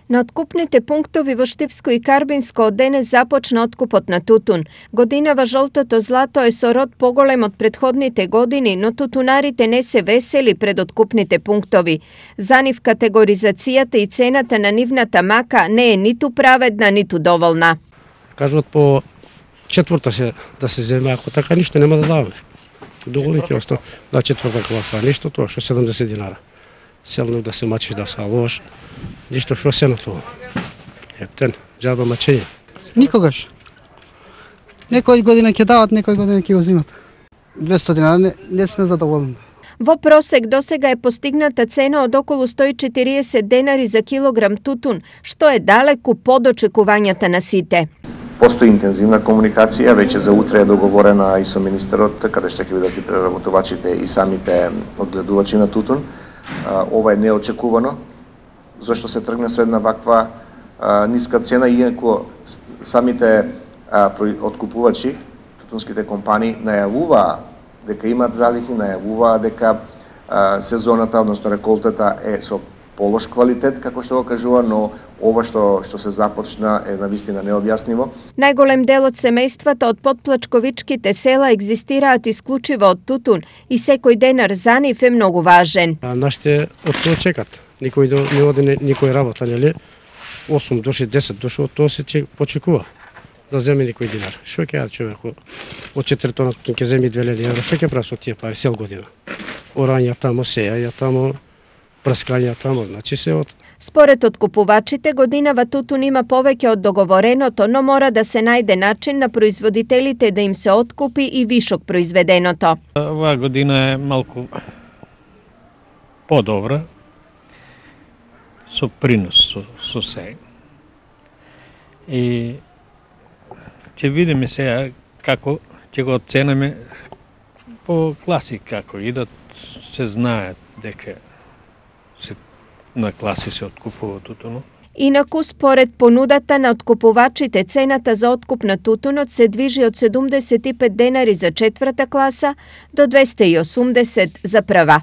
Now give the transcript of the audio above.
На откупните пунктови во Штипско и Карбинско од денес започна откупот на тутун. Годинава жолтото злато е со род поголем од претходните години, но тутунарите не се весели пред откупните пунктови. За нив категоризацијата и цената на нивната мака не е ниту праведна, ниту доволна. Кажуват по четврта да се земе, ако така ништо нема да даваме. Доголите остава на четврта класа, ништо тоа што 70 динара. Селно да се мачиш да се лош, ништо што се на тоа. Ептен, џаба мачење. Никогаш. Некој година ќе дават, некој година ќе го земат. 200 динара не сме задоволни. Во просек досега е постигната цена од околу 140 денари за килограм тутун, што е далеку под очекувањата на сите. Постои интензивна комуникација, веќе за утре е договорена и со министерот, каде што ќе бидат и преработувачите и самите одгледувачи на тутун. Ова е неочекувано, зашто се тргне со една ваква ниска цена, иако самите откупувачи, тутунските компании, најавуваа дека имат залихи, најавуваа дека сезоната, односно реколтата е со полош квалитет, како што го кажува, но ова што се започна е навистина необјасниво. Најголем дел од семејствата од подплачковичките села екзистираат исклучиво од тутун и секој денар за нив е многу важен. Нашите од тоа чекат. Никој не оди никој работа, нели? 8 души, 10 души, од тоа се почекува да земе никој динар. Што ќе јаде човек? Од 4 тона тутун ќе земи 2000 евра. Што ќе прави со тие пари сел година? Орања тамо, сеја тамо, прскања тамо, значи се од... Според откупувачите, годинава тутун има повеќе од договореното, но мора да се најде начин на производителите да им се откупи и вишок произведеното. Оваа година е малку подобра, со принос со се. И ќе видиме сега како ќе го оценеме по класи како идат, се знаат дека на класи се откупува тутунот. Инаку, според понудата на откупувачите, цената за откуп на тутунот се движи од 75 денари за четврта класа до 280 за прва.